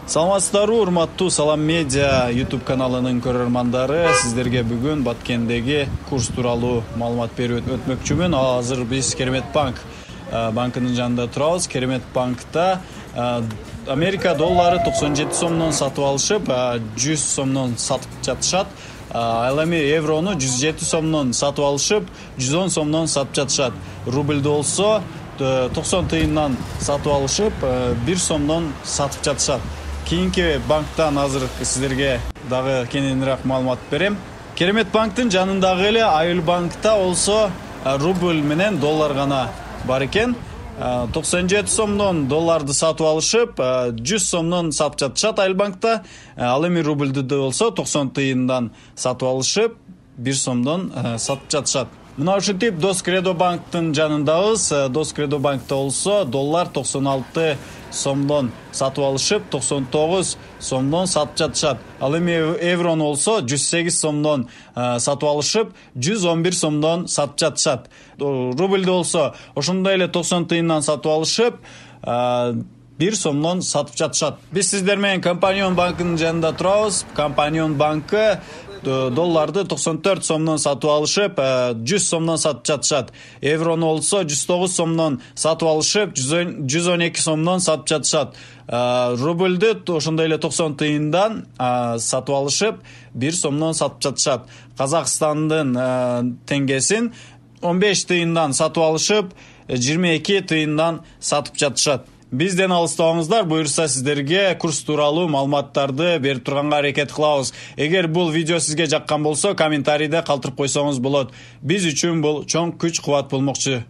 Саламатсыздарбы, урматтуу Салам Медиа YouTube каналынын көрөрмандары. Сиздерге бүгүн Баткендеги курс тууралуу маалымат берип өтмөкчүмүн. Азыр биз Керемет банкынын жанында турабыз. Керемет банкта Америка доллары 97 сомдон сатып алышып, 100 сомдон сатып жатышат. Ал эми еврону 107 сомдон сатып алышып, 110 сомдон сатып жатышат. Рубльдү болсо 90 тыйындан сатып алышып, 1 сомдон сатып жатышат. Кийинки банктан азыр сиздерге дагы кененирээк маалымат берем. Керемет банктын жанындагы эле Айыл банкта болсо рубль менен доллар гана бар экен. 97 сомдон долларды сатып алышып, 100 сомдон сатып жатышат Айыл банкта. Ал эми рубльдү болсо 90 тыйындан сатып алышып, 1 сомдон сатып жатышат. Мына ушинтип Дос Кредо банктын жанындабыз. Дос Кредо банкта болсо доллар 96 сомдон сатып алышып, 99 сомдон сатып жатышат. Ал эми еврону болсо 108 сомдон сатып алышып, 111 сомдон сатып жатышат. Рубльдү болсо ошондой эле 90 тыйындан сатып алышып, 1 сомдон сатып жатышат. Биз сиздер менен Компанион банкынын жанында турабыз. Компанион банкы долларды 94 сомдон сатып алышып, 100 сомдон сатып жатышат. Еврону болсо 109 сомдон сатып алышып, 112 сомдон сатып жатышат. Рубльдү ошондой эле 90 тыйындан сатып алышып, 1 сомдон сатып жатышат. Казакстандын теңгесин 15 тыйындан сатып алышып, 22 тыйындан сатып жатышат. Бизден алыстабаңыздар, буюрса сиздерге курс тууралуу маалыматтарды берип турганга аракет кылабыз. Эгер бул видео сизге жаккан болсо, комментарийде калтырып койсоңуз болот. Биз үчүн бул чоң күч кубат болмокчу.